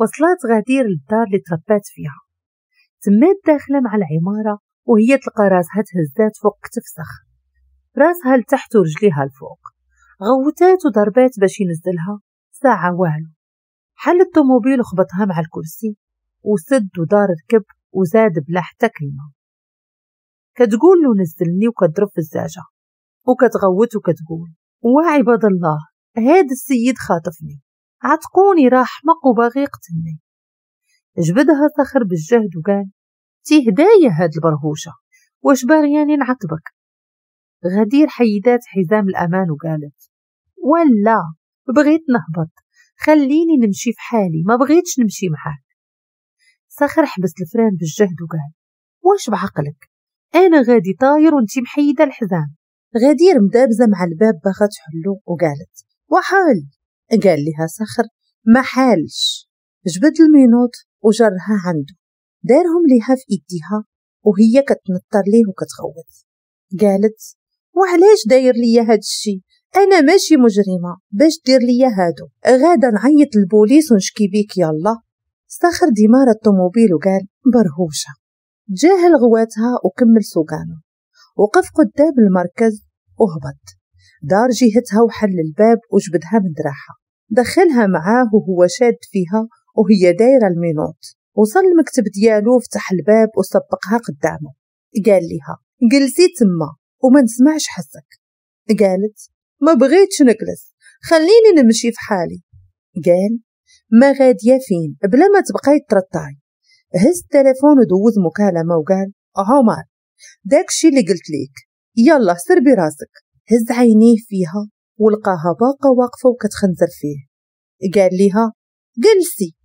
وصلت غدير للدار اللي تربات فيها، تمات داخله مع العمارة وهي تلقى راسها تهزات فوق كتف صخر، راسها لتحت ورجليها الفوق. غوتات وضربات باش ينزلها، ساعة والو. حل الطوموبيل وخبطها مع الكرسي وسد ودار ركب وزاد بلا حتى كلمة. كتقول له نزلني وكتضرب في الزاجة وكتغوت وكتقول وعباد الله هاد السيد خاطفني، عتقوني، راه حمق وباغي يقتلني. جبدها صخر بالجهد وقال تي هدايا هاد البرهوشة، واش باغياني نعطبك؟ غدير حيدات حزام الأمان وقالت ولا بغيت نهبط، خليني نمشي في حالي، ما بغيتش نمشي معاك. صخر حبس ال frein بالجهد وقال واش بعقلك، أنا غادي طاير وانتي محيدة الحزام. غدير مدابزة مع الباب باغا تحلو وقالت وحال. قال لها صخر ما حالش. جبد ال menottes وجرها عنده، دارهم ليها في ايديها وهي كتنطر ليه وكتغوت. قالت وعلاش داير ليا هاد الشي، انا ماشي مجرمه باش دير ليا هادو، غادا نعيط للبوليس ونشكي بيك يلا. صخر démarra الطوموبيل وقال برهوشه. تجاهل غواتها وكمل سوقانه، وقف قدام المركز وهبط، دار جهتها وحل الباب وجبدها من دراعها، دخلها معاه وهو شاد فيها وهي دايرة ال menottes. وصل المكتب ديالو، فتح الباب وسبقها قدامه. قال لها جلسي تما وما نسمعش حسك. قالت ما بغيتش نجلس، خليني نمشي في حالي. قال ما غادية فين بلا ما تبقاي ترطاي. هز التليفون ودوز مكالمة وقال عمر داكشي اللي قلت ليك، يلا سربي راسك. هز عينيه فيها ولقاها باقا واقفة وكتخنزر فيه. قال لها جلسي.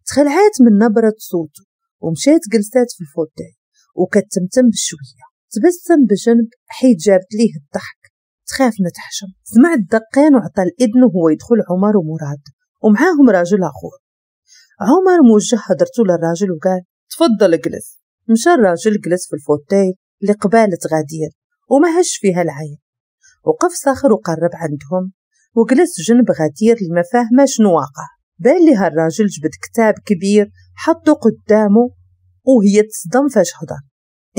تخلعات من نبرة صوته ومشات جلسات في ال fauteuil وكتمتم بشوية. تبسم بجنب حيت جابت ليه الضحك، تخاف ما تحشم. سمع الدقان وعطى الإذن وهو يدخل عمر ومراد ومعاهم راجل آخر. عمر موجه هدرته للراجل وقال تفضل اجلس. مشى الراجل جلس في ال fauteuil اللي قبالة غدير وما هش فيها العين. وقف صخر وقرب عندهم وجلس جنب غدير اللي ما فاهمه شنو واقع. بان لها الراجل جبد كتاب كبير حطه قدامه وهي تصدم فاش هضر.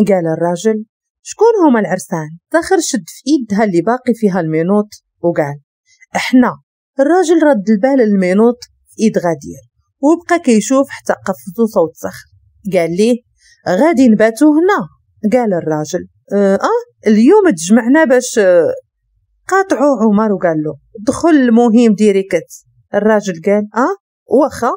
قال الراجل شكون هما العرسان؟ صخر شد في ايدها اللي باقي فيها ال menottes وقال احنا. الراجل رد البال ال menottes في ايد غدير وبقى كيشوف حتى قفزو صوت صخر. قال ليه غادي نباتو هنا. قال الراجل اليوم تجمعنا باش قاطعو عمر وقال له دخل المهم direct. الراجل قال واخا.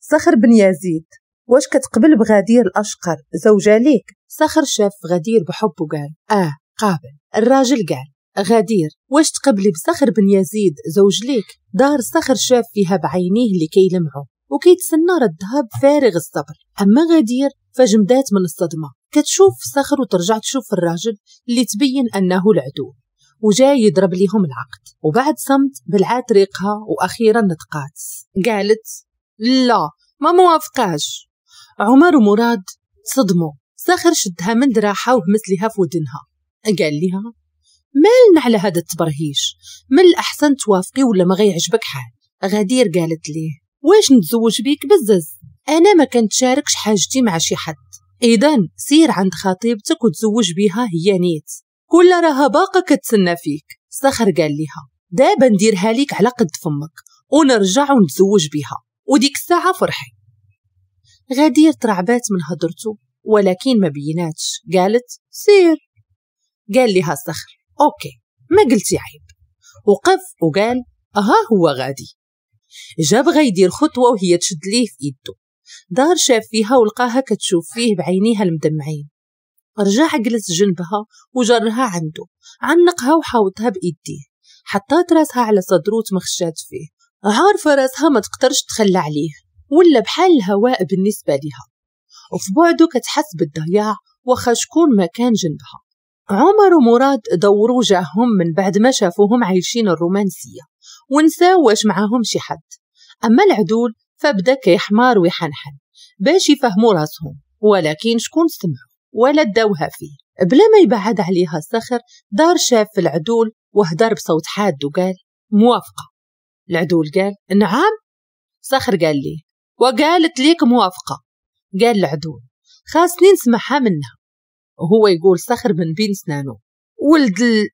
صخر بن يزيد واش كتقبل بغدير الاشقر زوجة ليك؟ صخر شاف غدير بحب وقال قابل. الراجل قال غدير واش تقبلي بصخر بن يزيد زوج ليك؟ دار صخر شاف فيها بعينيه اللي كيلمعوا وكيتسنى ردها بفارغ الصبر. اما غدير فجمدات من الصدمة، كتشوف صخر وترجع تشوف الراجل اللي تبين انه العدو وجاي يضرب ليهم العقد. وبعد صمت بلعات ريقها واخيرا نطقات، قالت لا ما موافقاش. عمر ومراد صدموا. صخر شدها من دراعها وهمس لها في ودنها، قال لها مالنا على هذا التبرهيش، من الاحسن توافقي ولا ما غيعجبك حال. غدير قالت ليه واش نتزوج بيك بزز، انا ما كنتشاركش حاجتي مع شي حد، اذا سير عند خطيبتك وتزوج بيها هي نيت، كل راها باقا كتسنى فيك. صخر قال لها دابا نديرها ليك على قد فمك ونرجع ونتزوج بيها وديك الساعة فرحي. غدير ترعبات من هضرته ولكن ما بيناتش، قالت سير. قال لها صخر OK ما قلتي عيب. وقف وقال ها هو غادي. جاب غيدير خطوة وهي تشد ليه في ايده. دار شاف فيها ولقاها كتشوف فيه بعينيها المدمعين. رجع جلس جنبها وجرها عنده، عنقها وحاوطها بايديه، حطات راسها على صدره وتمخشات فيه، عارفه راسها ما تقدرش تخلى عليه ولا بحال الهواء بالنسبة لها. وفي بعده كتحس بالضياع واخا شكون ما كان جنبها. عمر ومراد دوروا وجههم من بعد ما شافوهم عايشين الرومانسية ونساو واش معاهم شي حد. اما العدول فبدا كيحمار ويحنحن باش يفهموا راسهم، ولكن شكون سمعوا ولا داوها فيه. بلا ما يبعد عليها صخر دار شاف في العدول وهدر بصوت حاد وقال موافقة. العدول قال نعم. صخر قال ليه وقالت ليك موافقة. قال العدول خاصني نسمعها منها. وهو يقول صخر من بين سنانه ولد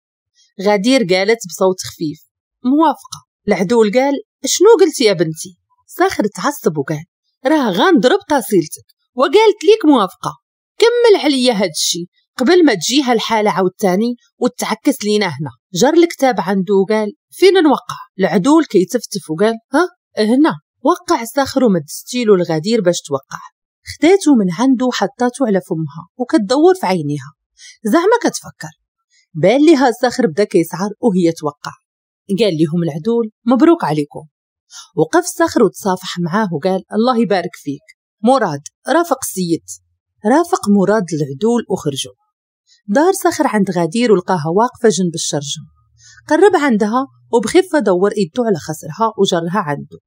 غدير قالت بصوت خفيف موافقة. العدول قال شنو قلتي يا بنتي؟ صخر تعصب وقال راه غنضرب تصيلتك وقالت ليك موافقة، كمل عليا هاد الشي قبل ما تجيها الحالة عاوتاني وتعكس لينا هنا. جر الكتاب عنده وقال فين نوقع؟ العدول كيتفتف وقال ها هنا. وقع صخر ومد ستيلو الغدير باش توقع. خداتو من عنده وحطاتو على فمها وكتدور في عينيها زعما كتفكر. بان ليها صخر بدا كيسعر وهي توقع. قال لهم العدول مبروك عليكم. وقف صخر وتصافح معاه وقال الله يبارك فيك مراد، رافق السيد. رافق مراد العدول وخرجوا. دار صخر عند غدير ولقاها واقفة جنب الشرجم. قرب عندها وبخفة دور ايده على خصرها وجرها عنده.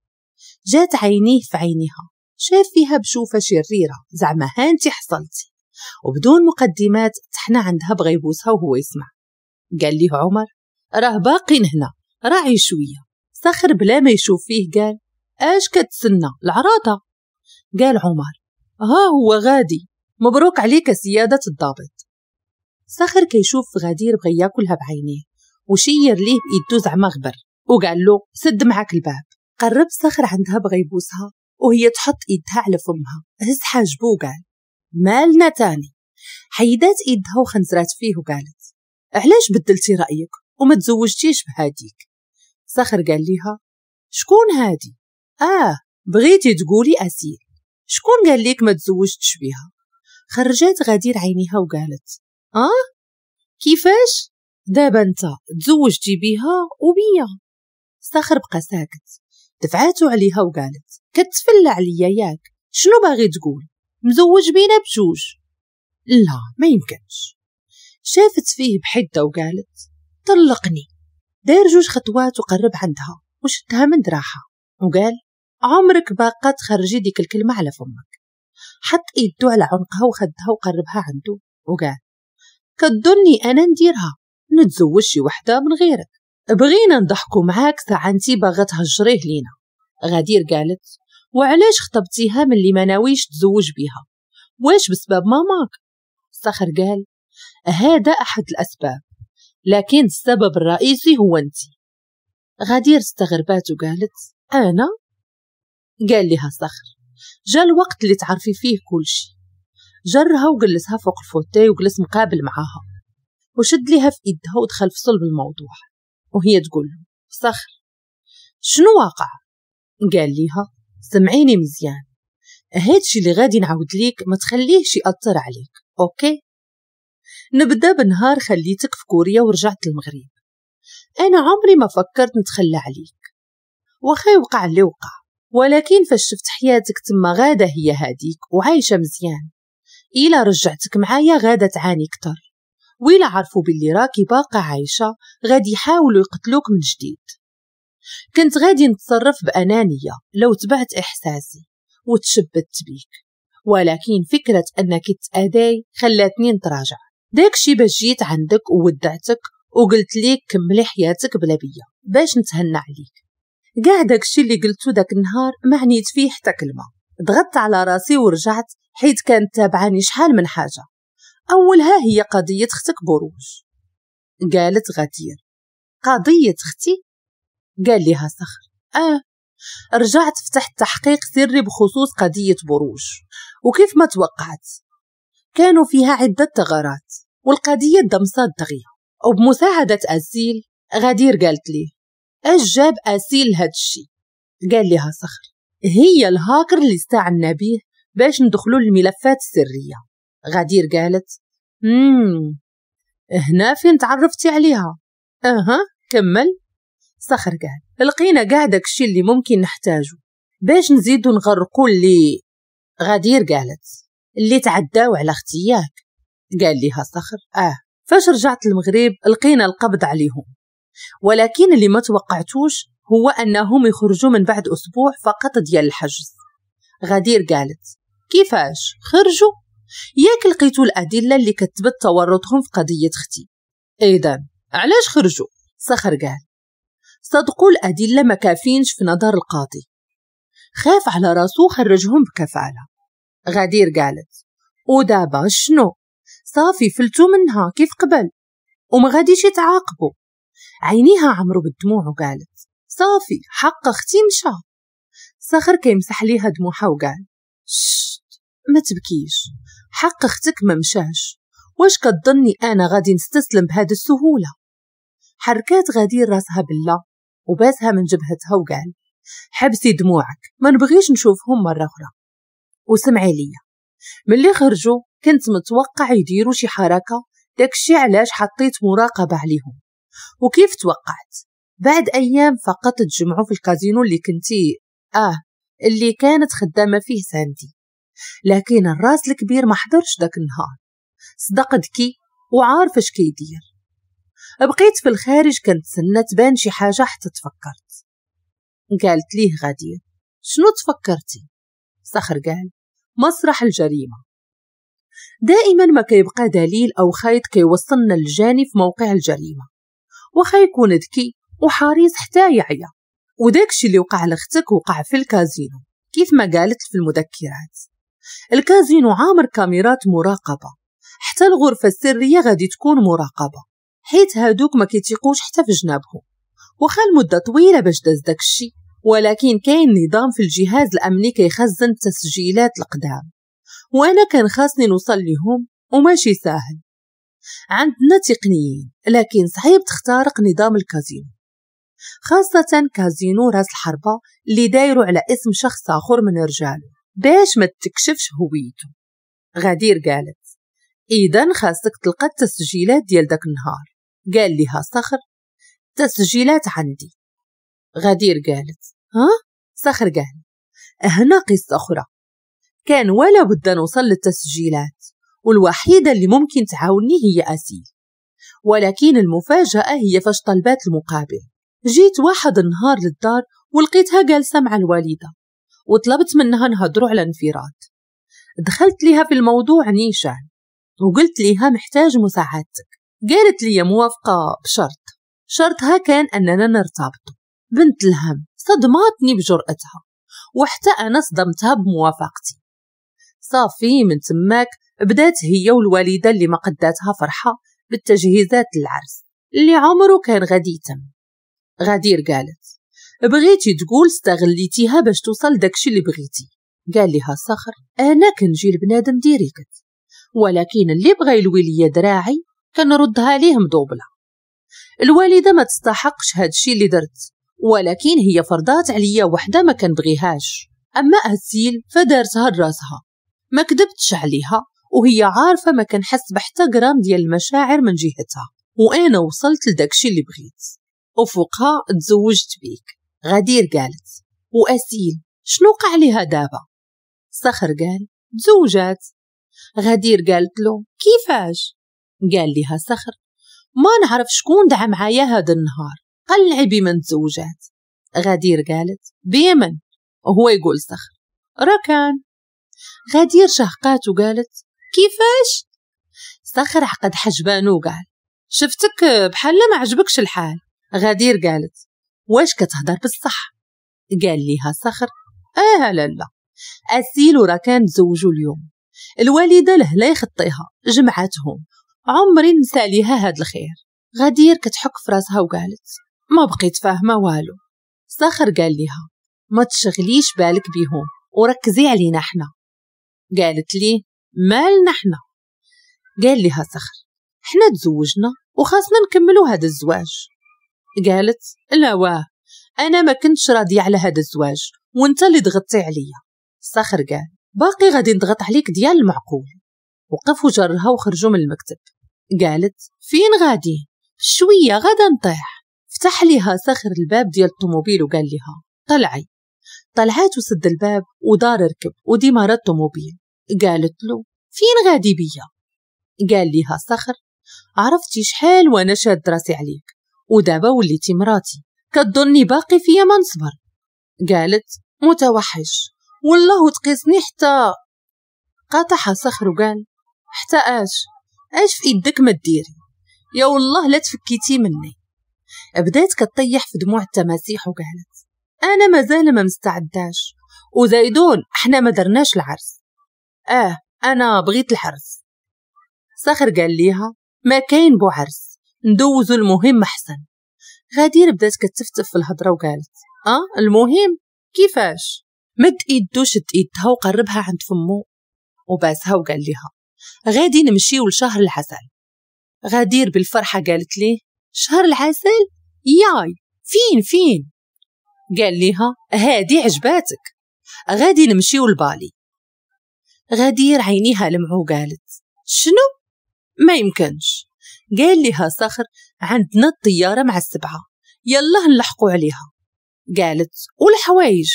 جات عينيه في عينيها، شاف فيها بشوفة شريرة زعما هانتي حصلتي. وبدون مقدمات تحنى عندها بغى يبوسها وهو يسمع. قال ليه عمر راه باقين هنا راعي شوية. صخر بلا ما يشوف فيه قال اش كتسنى العراضة؟ قال عمر ها هو غادي، مبروك عليك سيادة الضابط. صخر كيشوف في غدير بغى ياكلها بعينيه وشير ليه بإيدو زعما غبر وقال له سد معاك الباب. قرب صخر عندها بغى يبوسها وهي تحط ايدها على فمها. هز حاجبو وقال مالنا تاني؟ حيدات ايدها وخنزرات فيه وقالت علاش بدلتي رأيك وما تزوجتيش بهاديك؟ صخر قال ليها شكون هادي؟ بغيتي تقولي أسيل. شكون قال ليك ما تزوجتش بيها؟ خرجات غدير عينيها وقالت كيفاش؟ دابا انت تزوجتي بيها وبيا. صخر بقى ساكت. دفعاتو عليها وقالت كتفلى عليا ياك، شنو باغي تقول؟ مزوج بينا بجوج؟ لا ما يمكنش. شافت فيه بحدة وقالت طلقني. دار جوج خطوات وقرب عندها وشدها من دراعها وقال عمرك باقا تخرجي ديك الكلمة على فمك. حط ايدو على عنقها وخدها وقربها عنده وقال كتظني انا نديرها؟ نتزوج شي وحدة من غيرك؟ بغينا نضحكوا معاك ساعة انتي باغا تهجريه لينا. غدير قالت وعلاش خطبتيها من اللي ما ناويش تزوج بيها؟ واش بسبب ماماك؟ صخر قال هذا احد الاسباب، لكن السبب الرئيسي هو انتي. غدير استغربات وقالت انا؟ قال لها صخر جا الوقت اللي تعرفي فيه كل شيء. جرها وجلسها فوق ال fauteuil وجلس مقابل معاها وشد لها في ايدها ودخل في صلب الموضوع وهي تقول له صخر شنو واقع؟ قال ليها سمعيني مزيان، هادشي اللي غادي نعاود ليك ما تخليهش يأثر عليك، OK؟ نبدا بنهار خليتك في كوريا ورجعت المغرب. انا عمري ما فكرت نتخلى عليك واخا يوقع اللي وقع، ولكن فاش شفت حياتك تما غاده هي هاديك وعايشه مزيان، الا رجعتك معايا غاده تعاني كتر، وإلا عرفوا باللي راكي باقا عايشه غادي يحاولوا يقتلوك من جديد. كنت غادي نتصرف بأنانية لو تبعت إحساسي وتشبت بيك، ولكن فكرة أنك تأداي خلاتني نتراجع. داكشي باش جيت عندك وودعتك وقلت ليك كملي حياتك بلا بيا باش نتهنى عليك. كاع داكشي اللي قلتو داك النهار ما عنيت فيه حتى كلمة. ضغطت على راسي ورجعت حيت كانت تابعاني شحال من حاجة، أولها هي قضية اختك بروج. قالت غدير قضية اختي؟ قال لها صخر رجعت فتحت تحقيق سري بخصوص قضية بروج، وكيف ما توقعت كانوا فيها عدة ثغرات والقضية دمصات دغيا. وبمساعدة أسيل غدير قالت لي اش جاب أسيل لهاد الشي؟ قال لها صخر هي الهاكر اللي استعنا به باش ندخلوا للملفات السرية. غدير قالت هنا فين تعرفتي عليها؟ كمل. صخر قال لقينا كاع داكشي اللي ممكن نحتاجو باش نزيدو نغرقو اللي. غدير قالت اللي تعداو على اختياك. قال لها صخر فاش رجعت المغرب لقينا القبض عليهم، ولكن اللي ما توقعتوش هو انهم يخرجوا من بعد اسبوع فقط ديال الحجز. غدير قالت كيفاش خرجوا؟ ياك لقيتو الادله اللي كتبت تورطهم في قضيه اختي، اذا علاش خرجوا؟ صخر قال صدقوا الادله ما كافينش في نظر القاضي. خاف على راسو خرجهم بكفالة. غدير قالت ودابا شنو؟ صافي فلتو منها كيف قبل وما غاديش يتعاقبوا. عينيها عمرو بالدموع وقالت صافي حق اختي مشى. صخر كيمسح ليها دموعها وقال شت ما تبكيش، حق اختك ما مشاش، واش كتظني انا غادي نستسلم بهذه السهولة؟ حركات غدير راسها بالله وباسها من جبهتها وقال حبسي دموعك، ما نبغيش نشوفهم مرة اخرى. وسمعي ليا، ملي خرجوا كنت متوقع يديروا شي حركة، داكشي علاش حطيت مراقبة عليهم. وكيف توقعت؟ بعد ايام فقط تجمعوا في الكازينو اللي كنتي اللي كانت خدامه فيه ساندي، لكن الراس الكبير ما حضرش داك النهار، صدق ذكي وعارف اش كيدير. بقيت في الخارج كنتسنى تبان شي حاجة حتى تفكرت. قالت ليه غدير شنو تفكرتي؟ صخر قال مسرح الجريمة. دائما ما كيبقى دليل او خيط كيوصلنا للجاني في موقع الجريمة، وخا يكون ذكي وحريص حتى يعيا. وداكشي اللي وقع لاختك وقع في الكازينو كيف ما قالت في المذكرات. الكازينو عامر كاميرات مراقبة، حتى الغرفة السرية غادي تكون مراقبة، حيت هادوك ما كيتيقوش حتى في جنابهم. وخا المدة طويلة باش داز داكشي، ولكن كاين نظام في الجهاز الأمني كيخزن التسجيلات القدام، وأنا كان خاصني نوصل لهم وماشي ساهل. عندنا تقنيين لكن صعيب تخترق نظام الكازينو، خاصة كازينو راس الحربة اللي دايرو على اسم شخص آخر من رجاله باش ما تكشفش هويته. غدير قالت إذا خاصك تلقى التسجيلات ديال داك النهار. قال لها صخر تسجيلات عندي. غدير قالت ها؟ صخر قال هنا قصة أخرى، كان ولا بد نوصل للتسجيلات، والوحيدة اللي ممكن تعاوني هي أسيل، ولكن المفاجأة هي فاش طلبات المقابل. جيت واحد النهار للدار ولقيتها جالسة مع الوالدة، وطلبت منها نهضروا على انفراد. دخلت ليها في الموضوع نيشان وقلت ليها محتاج مساعدتك. قالت لي موافقة بشرط، شرطها كان أننا نرتبط. بنت الهم صدمتني بجرأتها، وحتى أنا صدمتها بموافقتي. صافي من تماك بدات هي والوالدة اللي ما قداتها فرحة بالتجهيزات للعرس اللي عمره كان غادي يتم. غدير قالت بغيتي تقول استغليتيها باش توصل داكشي اللي بغيتي. قال لها صخر انا كنجي لبنادم direct، ولكن اللي بغى يلوي ليا دراعي كنردها ليه مدوبله. الوالدة ما تستحقش هادشي اللي درت، ولكن هي فرضات عليا وحده ما كنبغيهاش. اما اسيل فدارتها لراسها، ما كذبتش عليها وهي عارفه ما كنحس بحتى غرام ديال المشاعر من جهتها، وانا وصلت لداكشي اللي بغيت وفوقها تزوجت بيك. غدير قالت واسيل شنو وقع ليها دابا؟ صخر قال تزوجات. غدير قالت له كيفاش؟ قال لها صخر ما نعرف شكون دعا معايا هذا النهار، قلعي بمن تزوجات. غدير قالت بمن؟ وهو يقول صخر ركان. غدير شهقات وقالت كيفاش؟ صخر عقد حجبانو وقال شفتك بحال ما عجبكش الحال. غدير قالت واش كتهضر بالصح؟ قال ليها صخر لا لا، أسيل وركان تزوجوا اليوم، الوالدة لهلا يخطيها جمعتهم، عمري نسى ليها هاد الخير. غدير كتحك في راسها وقالت ما بقيت فاهمه والو. صخر قال ليها ما تشغليش بالك بيهم وركزي علينا احنا. قالت ليه مالنا احنا؟ قال لها صخر احنا تزوجنا وخاصنا نكملوا هذا الزواج. قالت لا واه، انا ما كنتش راضية على هذا الزواج وانت اللي ضغطتي عليا. صخر قال باقي غادي نضغط عليك ديال المعقول. وقف وجرها وخرجوا من المكتب. قالت فين غادي؟ شوية غادا نطيح. فتح ليها صخر الباب ديال الطوموبيل وقال لها طلعي. طلعات وسد الباب ودار ركب وديمارا الطوموبيل. قالت له فين غادي بيا؟ قال لها صخر عرفتي شحال وانا شاد راسي عليك ودابا وليتي مراتي، كتظني باقي فيا ما نصبر. قالت متوحش والله تقيسني حتى. قاطعها صخر وقال حتى اش في ايدك ما ديري، يا والله لا تفكيتي مني. بدات كطيح في دموع التماسيح وقالت انا مازال ما مستعداش، وزايدون احنا ما درناش العرس. انا بغيت العرس. صخر قال ليها ما كاين بو عرس، ندوزو المهم احسن. غدير بدات كتفتف في الهضرة وقالت المهم كيفاش؟ مد ايدو شد ايدها وقربها عند فمو وباسها وقال لها غادي نمشيو لشهر العسل. غدير بالفرحه قالت ليه شهر العسل؟ ياي فين فين؟ قال لها هادي عجباتك، غادي نمشيو لبالي. غدير عينيها لمعو قالت شنو؟ ما يمكنش. قال لها صخر عندنا الطيارة مع 7، يلا نلحقوا عليها. قالت والحوايج؟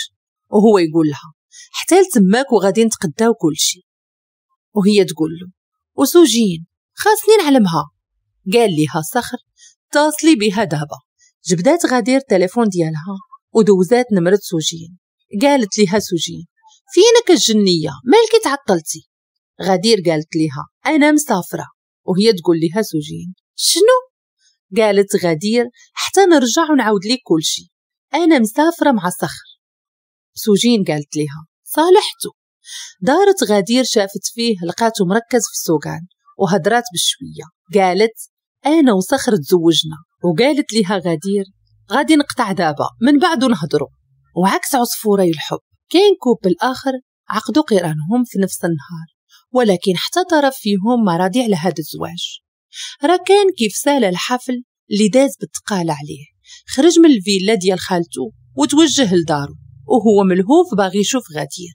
وهو يقول لها حتى لتماك وغادي نتقداو كل شيء. وهي تقول له وسوجين خاصني نعلمها. قال لها صخر اتصلي بها دابا. جبدات غدير التليفون ديالها ودوزات نمرة سوجين. قالت لها سوجين فينك الجنية، مالك تعطلتي؟ غدير قالت لها أنا مسافرة. وهي تقول لها سوجين شنو؟ قالت غدير حتى نرجع ونعاود لك كل شيء، أنا مسافرة مع صخر. سوجين قالت لها صالحته. دارت غدير شافت فيه لقاته مركز في السوقان وهدرات بشوية. قالت أنا وصخر تزوجنا. وقالت لها غدير غادي نقطع دابا من بعد نهضروا. وعكس عصفوري الحب كاين couple آخر عقدوا قرانهم في نفس النهار، ولكن حتى طرف فيهم ما راضي على هذا الزواج. راه كان كيف سال الحفل اللي داز بالتقال عليه، خرج من الفيلا ديال خالته وتوجه لدارو وهو ملهوف باغي يشوف غدير.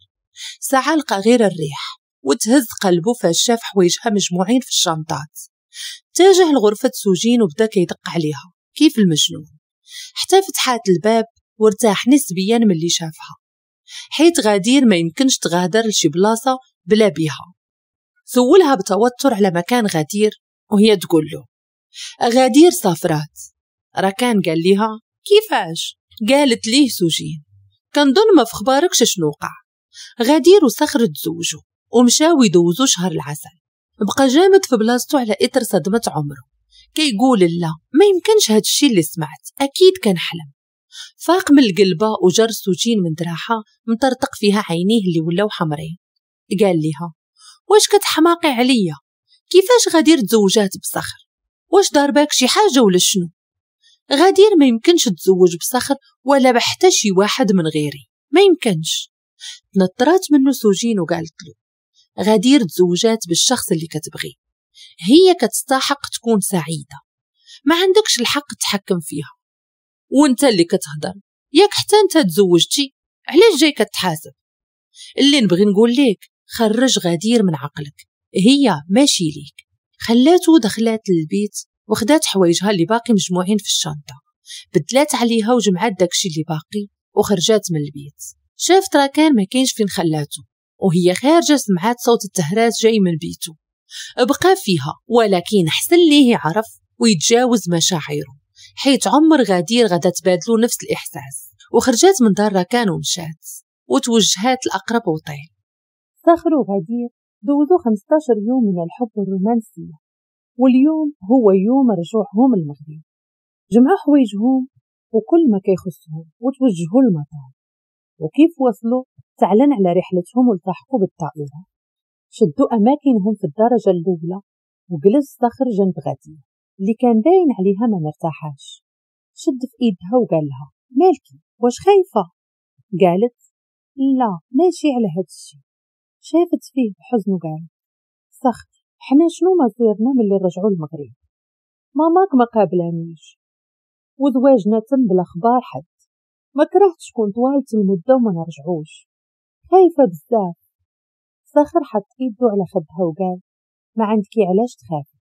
ساعة لقى غير الريح وتهز قلبه فاش شاف حوايجها مجموعين في الشنطات. تاجه لغرفة سوجين وبدا كيدق عليها كيف المجنون حتى فتحات الباب وارتاح نسبيا من اللي شافها، حيت غدير ما يمكنش تغادر لشي بلاصة بلا بيها. سولها بتوتر على مكان غدير وهي تقول له غدير سافرات. ركان قال لها كيفاش؟ قالت ليه سوجين كنظن ما في خباركش شنو وقع، غدير وصخر تزوجوا ومشاو يدوزوا شهر العسل. بقى جامد في بلاصتو على إثر صدمة عمره، كيقول لا ما يمكنش هادشي اللي سمعت، أكيد كان حلم. فاق من القلبة وجر سوجين من دراحة مطرطق فيها عينيه اللي ولاو حمرين. قال لها واش كتحماقي عليا؟ كيفاش غدير تزوجات بصخر؟ واش ضرباك شي حاجة ولا شنو؟ غدير ما يمكنش تزوج بصخر ولا بحتى شي واحد من غيري، ما يمكنش. تنطرات منه سوجين وقالت له غدير تزوجات بالشخص اللي كتبغي، هي كتستحق تكون سعيدة، ما عندكش الحق تحكم فيها، وانت اللي كتهضر ياك حتى انت تزوجتي، علاش جاي كتحاسب؟ اللي نبغي نقول لك خرج غدير من عقلك، هي ماشي ليك. خلاته دخلات للبيت وخدات حوايجها اللي باقي مجموعين في الشنطة، بدلات عليها وجمعات داكشي اللي باقي وخرجات من البيت. شافت راكان ما كاينش فين خلاته، وهي خارجة سمعات صوت التهراس جاي من بيته. بقى فيها ولكن حسن ليه يعرف ويتجاوز مشاعره، حيت عمر غدير غدا تبادلو نفس الإحساس. وخرجات من دار راكان ومشات وتوجهات لأقرب أوتيل. صخر وغدير دوزو 15 يوم من الحب الرومانسية، واليوم هو يوم رجوعهم المغرب. جمعوا حوايجهم وكل ما كيخصهم وتوجهوا للمطار، وكيف وصلوا تعلن على رحلتهم والتحقوا بالطائرة. شدوا أماكنهم في الدرجة الأولى وجلس صخر جنب غدير اللي كان باين عليها ما مرتاحاش. شد في ايدها وقال لها مالكي واش خايفة؟ قالت لا ماشي على هاد الشي. شافت فيه بحزن وقالت صخر حنا شنو مصيرنا ملي رجعوا المغرب؟ ماماك ما قابلانيش وزواجنا تم بلا خبار حد، ما كرهتش كون طوالت المدة وما نرجعوش، خايفة بزاف. صخر حط ايده على خدها وقال ما عندكي علاش تخافي،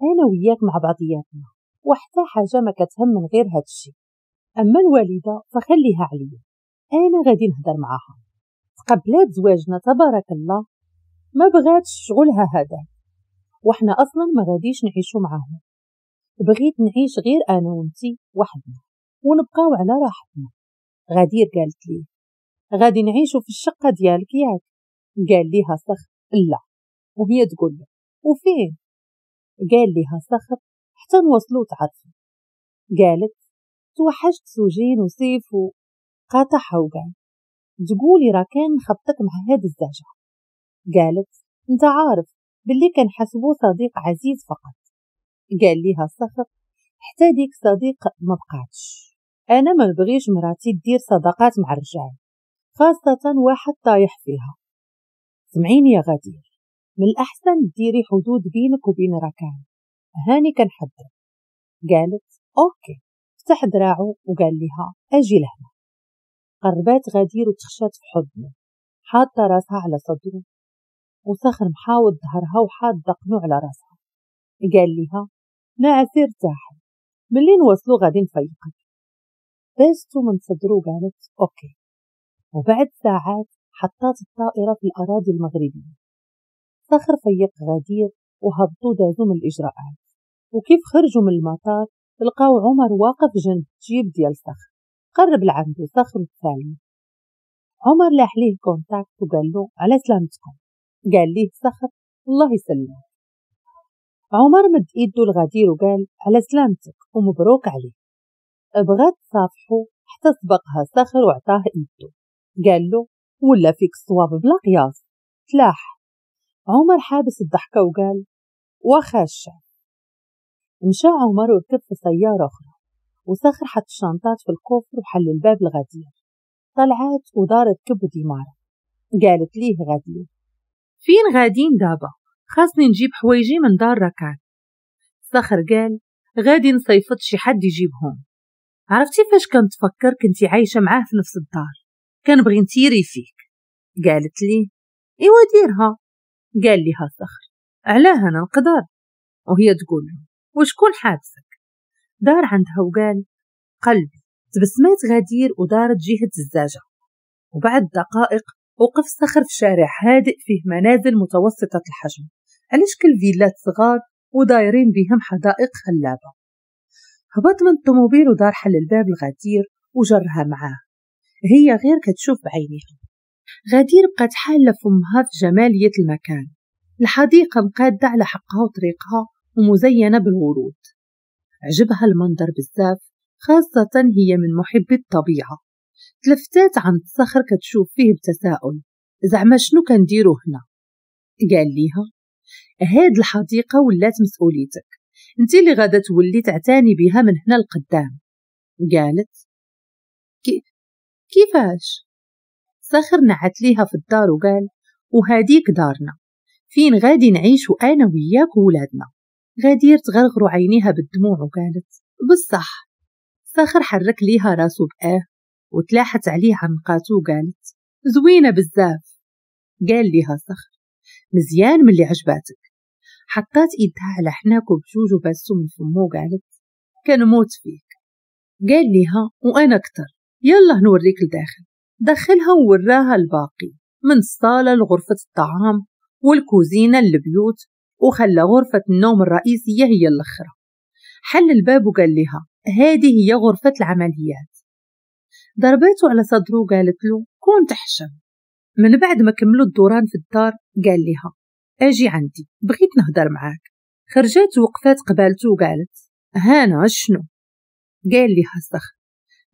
انا وياك مع بعضياتنا وحتى حاجة ما كتهم من غير هادشي. اما الوالدة فخليها عليا، انا غادي نهضر معاها. تقبلات زواجنا تبارك الله، ما بغاتش شغلها هذا، وحنا اصلا ما غاديش نعيشو معاهم، بغيت نعيش غير انا وانتي وحدنا ونبقاو على راحتنا. غدير قالت لي غادي نعيشو في الشقة ديالك ياك؟ قال ليها صخر لا، وهي تقول له وفين؟ قال ليها صخر حتى نوصلو تعرفي. قالت توحشت سوجين وسيف وقاطعها وقال تقولي ركان خبطك مع هاد الزعجة. قالت انت عارف باللي كنحسبو صديق عزيز فقط. قال ليها صخر حتى ديك صديق ما بقاتش، انا ما نبغيش مراتي دير صداقات مع الرجال، خاصة واحد طايح فيها. سمعيني يا غدير، من الأحسن ديري حدود بينك وبين ركان، هاني كنحذر. قالت OK. فتح دراعو وقال لها أجي لهنا. قربات غدير وتخشات في حضنه، حاطة راسها على صدره، وصخر محاوط ظهرها وحاط دقنه على راسها. قال لها نعسي ارتاحي، ملي نوصلو غادي نفيقك. باستو من صدره وقالت OK. وبعد ساعات حطات الطائرة في الأراضي المغربية. صخر فيق غدير وهبطوا دازوا من الإجراءات، وكيف خرجوا من المطار لقاو عمر واقف جنب جيب ديال صخر. قرب لعنده صخر وتسالم. عمر لاح ليه contact وقال له على سلامتكم. قال ليه صخر الله يسلمك. عمر مد ايده لغدير وقال على سلامتك ومبروك عليه. بغات تصافحو حتى سبقها صخر وعطاه ايده. قال له ولا فيك الصواب بلا قياس. تلاح عمر حابس الضحكة وقال واخا الشعب. مشى عمر وركب في سيارة أخرى، وصخر حط الشنطات في ال coffre وحل الباب لغدير. طلعات ودار ركب وديمارة. قالت ليه غدير فين غادين دابا؟ خاصني نجيب حوايجي من دار ركان. صخر قال غادي نصيفط شي حد يجيبهم. عرفتي فاش كنتفكر كنتي عايشة معاه في نفس الدار، كنبغي نتيري فيك. قالت لي ايوا ديرها. قال لها صخر علاه انا نقدر؟ وهي تقول له وشكون حابسك؟ دار عندها وقال قلبي. تبسمات غدير ودارت جهة الزاجة. وبعد دقائق وقف صخر في شارع هادئ فيه منازل متوسطة الحجم على شكل فيلات صغار ودايرين بهم حدائق خلابة. هبط من الطوموبيل ودار حل الباب لغدير وجرها معاه، هي غير كتشوف بعينيها. غدير بقت حالة فمها في جمالية المكان، الحديقة مقادة على حقها وطريقها ومزينة بالورود. عجبها المنظر بزاف، خاصة هي من محبي الطبيعة. تلفتات عند الصخر كتشوف فيه بتساؤل، زعما شنو كنديرو هنا؟ قال ليها هاد الحديقة ولات مسؤوليتك، انت اللي غادا تولي تعتاني بها من هنا لقدام. قالت كيفاش؟ صخر نعت ليها في الدار وقال وهاديك دارنا فين غادي نعيش انا وياك وولادنا. غدير تغرغروا عينيها بالدموع وقالت بصح. صخر حرك ليها راسو بآه وتلاحت عليه عنقاتو وقالت زوينة بزاف. قال ليها صخر مزيان من اللي عجباتك. حطات ايدها على حناكو بجوج وباسو من فمو وقالت كنموت فيك. قال ليها وانا اكتر، يلا نوريك لداخل. دخلها ووراها الباقي من الصالة لغرفة الطعام والكوزينة للبيوت، وخلى غرفة النوم الرئيسية هي الأخرى. حل الباب وقال لها هذه هي غرفة العمليات. ضربته على صدره وقالت له كون تحشم. من بعد ما كملوا الدوران في الدار قال لها اجي عندي بغيت نهضر معاك. خرجت وقفات قبالته وقالت هانا شنو؟ قال لها صخر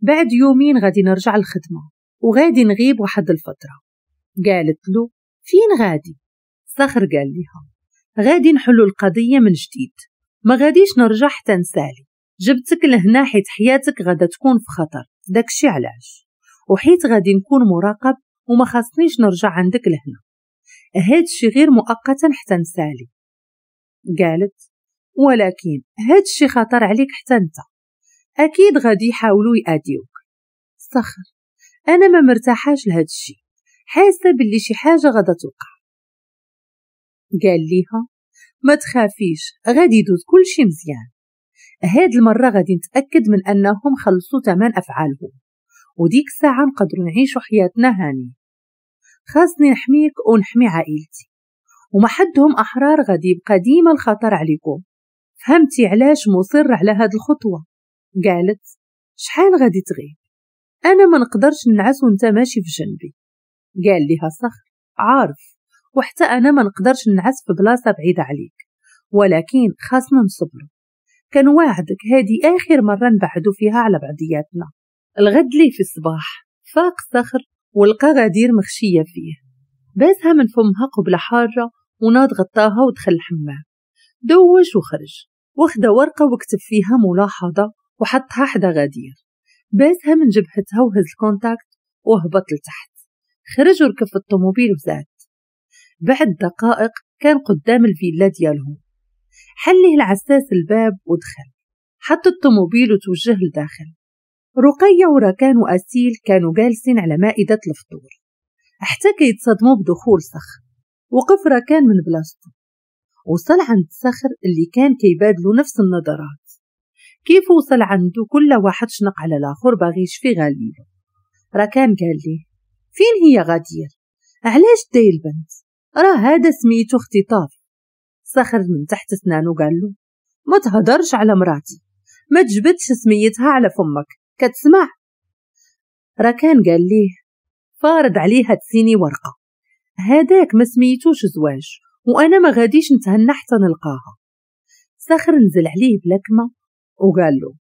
بعد يومين غادي نرجع الخدمة وغادي نغيب واحد الفترة. قالت له فين غادي؟ صخر قال لها غادي نحلو القضية من جديد، ما غاديش نرجع حتى نسالي. جبتك لهنا حيت حياتك غادا تكون في خطر، داكشي علاش، وحيت غادي نكون مراقب وما خاصنيش نرجع عندك لهنا، هادشي غير مؤقتا حتى نسالي. قالت ولكن هادشي خطر عليك حتى انت، اكيد غادي يحاولوا يأذيوك. صخر انا ما مرتاحاش لهادشي، حاسه باللي شي حاجه غادا توقع. قال ليها ما تخافيش غادي يدوز كلشي مزيان، هاد المره غادي نتاكد من انهم خلصوا ثمن افعالهم، وديك الساعه نقدروا نعيشوا حياتنا هاني. خاصني نحميك ونحمي عائلتي، وما حدهم احرار غادي يبقى ديما الخطر عليكم. فهمتي علاش مصر على هاد الخطوه؟ قالت شحال غادي تغيب؟ انا ما نقدرش نعس وانت ماشي في جنبي. قال لها صخر عارف، وحتى انا ما نقدرش نعس في بلاصه بعيده عليك، ولكن خاصنا نصبروا. كنواعدك هذه اخر مره نبعدوا فيها على بعضياتنا. الغد لي في الصباح فاق صخر ولقى غدير مخشية فيه، باسها من فمها قبلة حارة وناض غطاها ودخل الحمام، دوش وخرج واخد ورقة وكتب فيها ملاحظة وحطها حدا غدير، باسها من جبهتها وهز ال contact وهبط لتحت، خرج وركب في الطوموبيل وزاد. بعد دقائق كان قدام الفيلا ديالهم، حله العساس الباب ودخل، حط الطوموبيل وتوجه لداخل. رقية وركان وأسيل كانوا جالسين على مائدة الفطور حتى كيتصدموا بدخول صخر. وقف ركان من بلاصتو، وصل عند صخر اللي كان كيبادلو نفس النظرات. كيف وصل عنده كل واحد شنق على الاخر باغي يشفي غاليلو. ركان قال ليه فين هي غدير؟ علاش داي البنت؟ راه هذا سميتو اختطاف. صخر من تحت سنانو قال له ما تهدرش على مراتي، ما تجبدش سميتها على فمك، كتسمع؟ ركان قال ليه فارض عليها تسيني ورقة، هذاك ما سميتوش زواج وانا ما غاديش نتهنى حتى نلقاها. صخر نزل عليه بلكمة وقال له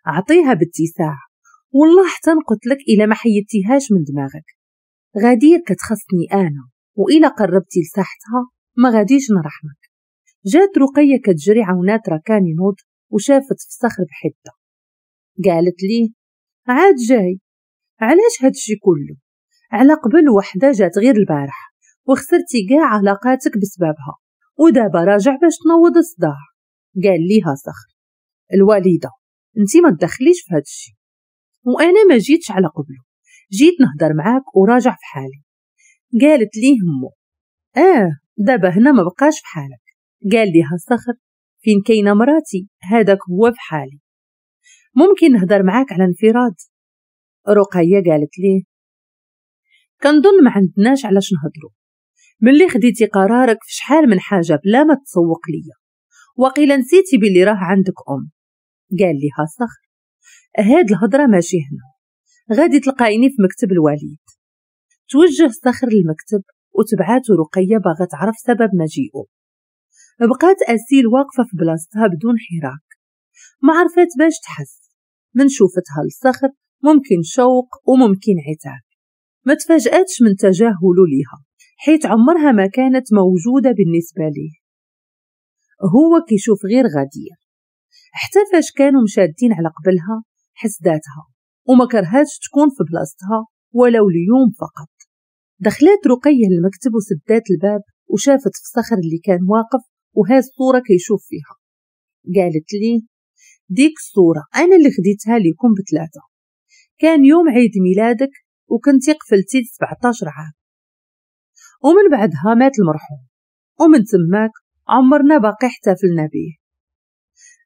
اعطيها باتساع، والله حتى نقتلك الا ما حيدتيهاش من دماغك. غدير كتخصني انا، والا قربتي لساحتها ما غاديش نرحمك. جات رقية كتجري عاونات ركان ينوض وشافت في صخر بحدة، قالت ليه عاد جاي؟ علاش هادشي كله؟ على قبل وحدة جات غير البارح وخسرتي كاع علاقاتك بسببها، ودابا راجع باش تنوض الصداع. قال ليها صخر الوالدة انتي ما تدخليش في هادشي، وانا ما جيتش على قبله، جيت نهضر معاك وراجع في حالي. قالت ليه امو دابا هنا ما بقاش في حالك. قال ليها صخر فين كاينه مراتي هذاك هو في حالي، ممكن نهضر معاك على انفراد؟ رقية قالت ليه كنظن ما عندناش علاش نهضروا، ملي خديتي قرارك في شحال من حاجة بلا ما تسوق ليا، وقيلا نسيتي بلي راه عندك ام. قال ليها صخر هاد الهضرة ماشي هنا، غادي تلقايني في مكتب الوالد. توجه صخر للمكتب وتبعاتو رقية باغا تعرف سبب مجيئه. بقات أسيل واقفة في بلاصتها بدون حراك، ما عرفت باش تحس من شوفتها للصخر، ممكن شوق وممكن عتاب. ما تفاجأتش من تجاهله ليها حيت عمرها ما كانت موجودة بالنسبة ليه، هو كيشوف غير غدير. حتى فاش كانوا مشادين على قبلها حسداتها وما كرهاتش تكون في بلاصتها ولو ليوم فقط. دخلت رقية للمكتب وسدات الباب وشافت في صخر اللي كان واقف وهاز الصورة كيشوف فيها. قالت لي ديك الصورة أنا اللي خديتها ليكم بثلاثة، كان يوم عيد ميلادك وكنتي قفلتي 17 عام، ومن بعدها مات المرحوم، ومن تماك عمرنا باقي احتفلنا به.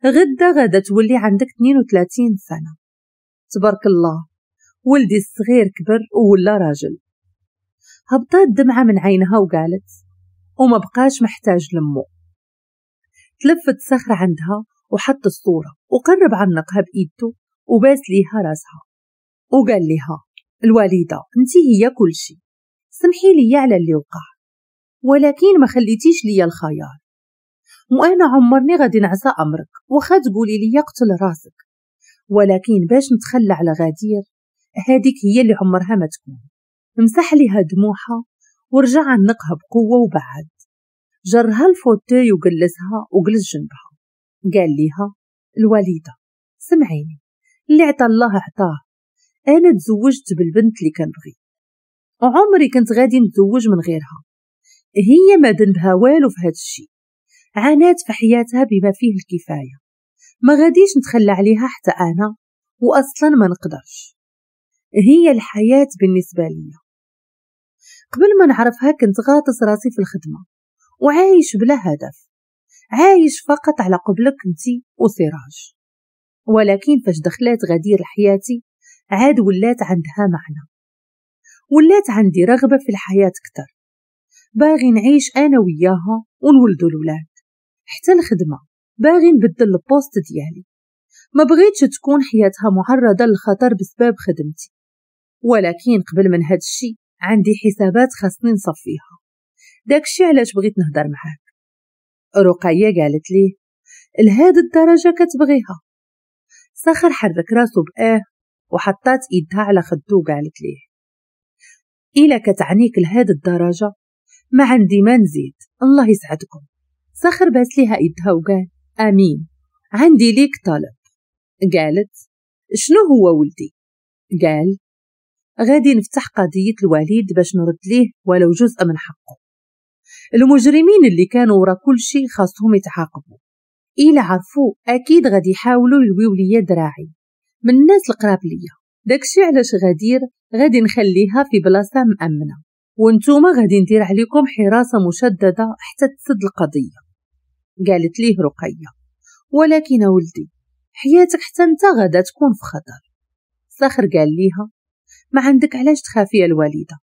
غدا غدا تولي عندك 32 سنة، تبارك الله ولدي الصغير كبر ولا راجل. هبطات دمعة من عينها وقالت وما بقاش محتاج لمو. تلفت صخر عندها وحط الصورة وقرب عنقها بإيده وباس ليها راسها وقال لها الوالدة انتي هي كل شي، سمحي لي على اللي وقع، ولكن ما خليتيش ليا الخيار، وانا عمرني غادي نعصى امرك وخا تقولي لي قتل راسك، ولكن باش نتخلى على غدير هذيك هي اللي عمرها ما تكون. مسح ليها دموعها ورجع عنقها بقوة وبعد جرها ال fauteuil وجلسها وجلس جنبها. قال ليها الوالدة سمعيني، اللي عطى الله عطاه، انا تزوجت بالبنت اللي كنبغي وعمري كنت غادي نتزوج من غيرها، هي ما ذنبها والو في هذا الشيء، عانات في حياتها بما فيه الكفاية، ما غاديش نتخلى عليها حتى انا، واصلا ما نقدرش، هي الحياة بالنسبة لي. قبل ما نعرفها كنت غاطس راسي في الخدمة وعايش بلا هدف، عايش فقط على قبلك انتي وسراج، ولكن فاش دخلات غدير لحياتي عاد ولات عندها معنى، ولات عندي رغبة في الحياة كتر، باغي نعيش أنا وياها ونولدو الولاد، حتى الخدمة باغي نبدل ال poste ديالي، ما بغيتش تكون حياتها معرضة للخطر بسبب خدمتي، ولكن قبل من هاد الشي عندي حسابات خاصني نصفيها، داكشي علاش بغيت نهضر معاك. رقية قالت ليه لهاد الدرجة كتبغيها؟ صخر حرك راسو بآه وحطات ايدها على خدو وقالت ليه إلا كتعنيك لهاد الدرجة ما عندي ما نزيد، الله يسعدكم. صخر باس ليها ايدها وقال امين، عندي ليك طلب. قالت شنو هو ولدي؟ قال غادي نفتح قضية الوليد باش نرد ليه ولو جزء من حقه. المجرمين اللي كانوا ورا كل شيء خاصهم يتعاقبوا، إلا عرفوا أكيد غادي يحاولوا يلويو ليا دراعي من الناس القراب ليا. داكشي علاش غدير غادي نخليها في بلاصة مأمنة، وانتوما غادي ندير عليكم حراسة مشددة حتى تسد القضية. قالت ليه رقية ولكن ولدي حياتك حتى انت غادا تكون في خطر. صخر قال ليها ما عندك علاش تخافي يا الوالدة،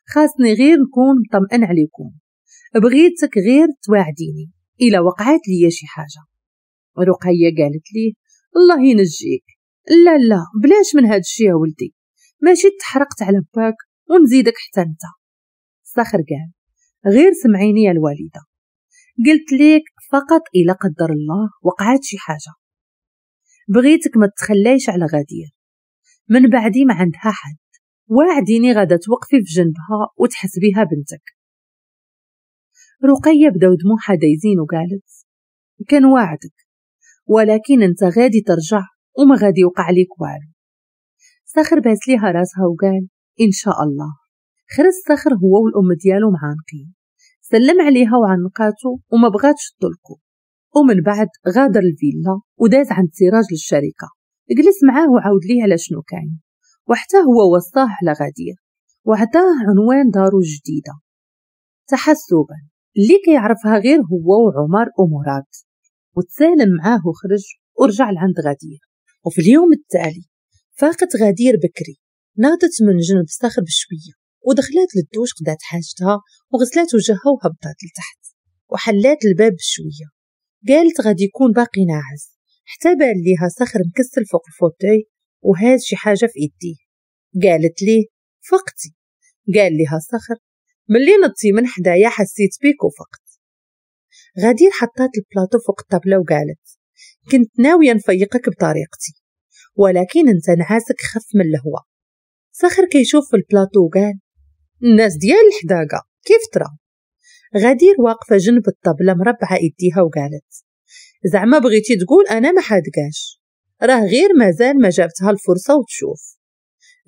خاصني غير نكون مطمئن عليكم، بغيتك غير تواعديني إلا وقعت لي شي حاجة. رقية قالت ليه الله ينجيك، لا لا بلاش من هاد الشي يا ولدي، ماشي تحرقت على باك ونزيدك حتى انت. صخر قال غير سمعيني يا الوالدة، قلت ليك فقط إلا قدر الله وقعت شي حاجة، بغيتك ما تخليش على غدير، من بعدي ما عندها حد، واعديني غادا توقفي في جنبها وتحسبيها بنتك. رقية بداو دموعها دايزين وقالت كان واعدك، ولكن انت غادي ترجع وما غادي يوقع ليك والو. صخر باس ليها راسها وقال ان شاء الله. خرج صخر هو والام ديالو معانقين، سلم عليها وعنقاتو وما بغاتش تطلقو. ومن بعد غادر الفيلا وداز عند سراج للشركة، جلس معاه وعاود ليه على شنو كاين، وحتى هو وصاه على غدير وعطاه عنوان دارو الجديدة تحسبا اللي كيعرفها غير هو وعمر ومراد. وتسالم معاه وخرج ورجع لعند غدير. وفي اليوم التالي فاقت غدير بكري، ناضت من جنب صخر بشوية ودخلت للدوش، قضات حاجتها وغسلات وجهها وهبطات لتحت وحلات الباب بشوية. قالت غادي يكون باقي ناعس، حتى بان ليها صخر مكسل فوق ال fauteuil وهاز شي حاجة في ايديه. قالت ليه فقتي؟ قال لها صخر ملي نضتي من حدايا حسيت بيك وفقت. غدير حطات البلاطو فوق الطابلة وقالت كنت ناوية نفيقك بطريقتي، ولكن انت نعاسك خف من الهواء. صخر كيشوف في البلاطو وقال الناس ديال الحداقة كيف ترى؟ غدير واقفة جنب الطبلة مربعة ايديها وقالت زعما بغيتي تقول انا ما حادقاش، راه غير مازال ما جابتها الفرصة وتشوف.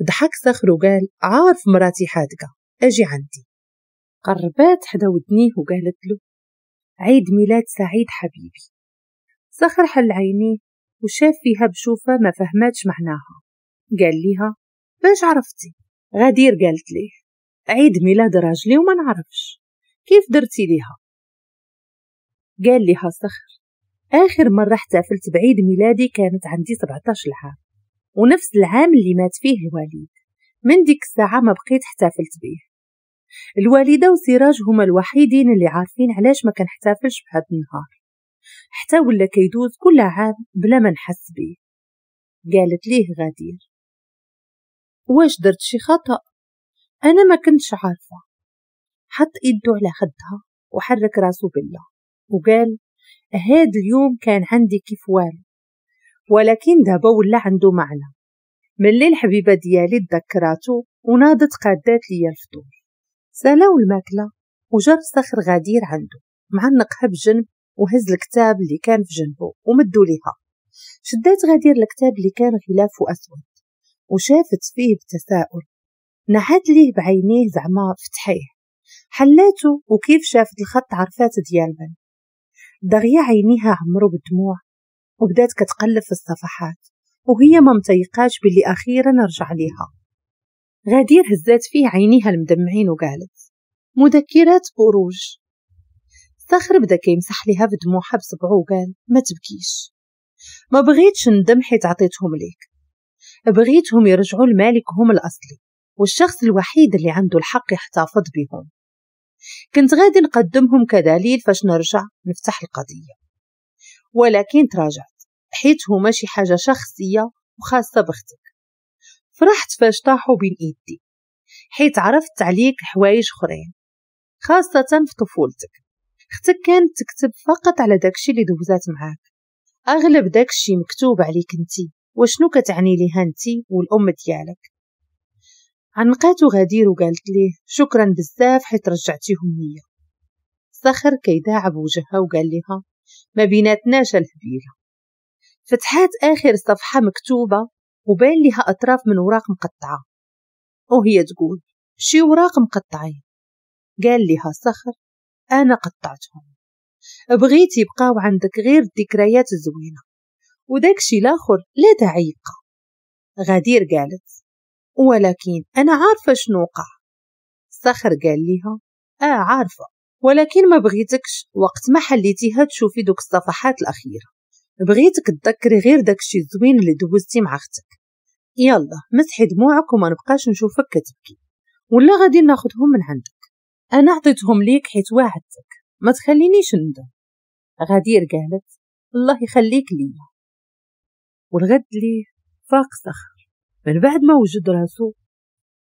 ضحك صخر وقال عارف مراتي حادقة، اجي عندي. قربات حدا ودنيه وقالت له عيد ميلاد سعيد حبيبي. صخر حل عينيه وشاف فيها بشوفة ما فهماتش معناها. قال ليها باش عرفتي؟ غدير قالت ليه عيد ميلاد راجلي وما نعرفش، كيف درتي ليها؟ قال لها صخر آخر مرة احتفلت بعيد ميلادي كانت عندي 17 عام، ونفس العام اللي مات فيه الوالد، من ديك الساعة ما بقيت احتفلت به. الوالدة وسراج هما الوحيدين اللي عارفين علاش ما كنحتفلش بهذا النهار، حتى ولا كيدوز كل عام بلا ما نحس به. قالت ليه غدير واش درت شي خطأ؟ أنا ما كنتش عارفة. حط إيده على خدها وحرك راسه بالله وقال هاد اليوم كان عندي كيف والو، ولكن دابا ولا عنده معنى. ملي الحبيبة ديالي تذكراتو وناضت قادات ليا الفطور. سالاو الماكلة وجر صخر غدير عنده معنقها بجنب وهز الكتاب اللي كان في جنبه ومدو ليها. شدات غدير الكتاب اللي كان غلافه أسود وشافت فيه بتساؤل، نعت ليه بعينيه زعما فتحيه. حلاته وكيف شافت الخط عرفات ديال من. دغيا عينيها عمرو بالدموع وبدات كتقلب في الصفحات وهي ما متيقاش باللي أخيرا رجع ليها. غدير هزات فيه عينيها المدمعين وقالت مذكرات بروج. صخر بدا كيمسح ليها بدموعها بصبعو وقال ما تبكيش، ما بغيتش ندم حيت عطيتهم ليك، بغيتهم يرجعوا لمالكهم الأصلي والشخص الوحيد اللي عنده الحق يحتفظ بهم. كنت غادي نقدمهم كدليل فاش نرجع نفتح القضية، ولكن تراجعت حيت هما شي حاجة شخصية وخاصة بختك. فرحت فاش طاحوا بين ايدي حيت عرفت عليك حوايج اخرين خاصة في طفولتك. اختك كانت تكتب فقط على داكشي اللي دوزات معاك، اغلب داكشي مكتوب عليك انتي وشنو كتعني ليها انتي والام ديالك. عنقاتو غدير وقالت ليه شكرا بزاف حيت رجعتيهم ليا. صخر كيداعب وجهها وقال لها ما بيناتناش الهبيله. فتحات اخر صفحة مكتوبة وبان لها اطراف من اوراق مقطعه، وهي تقول شي اوراق مقطعين. قال لها صخر انا قطعتهم، بغيت يبقاو عندك غير الذكريات الزوينة وداكشي الاخر لا داعي يبقى. غدير قالت ولكن انا عارفه شنو وقع. صخر قال لها عارفه، ولكن ما بغيتكش وقت ما حليتيها تشوفي دوك الصفحات الاخيرة، بغيتك تذكري غير داكشي الزوين اللي دوزتي مع اختك. يلا مسحي دموعك وما نبقاش نشوفك كتبكي، ولا غادي ناخذهم من عندك، انا عطيتهم ليك حيت واعدتك، ما تخلينيش ندم. غدير قالت الله يخليك ليا. والغد ليه فاق صخر من بعد ما وجد راسو،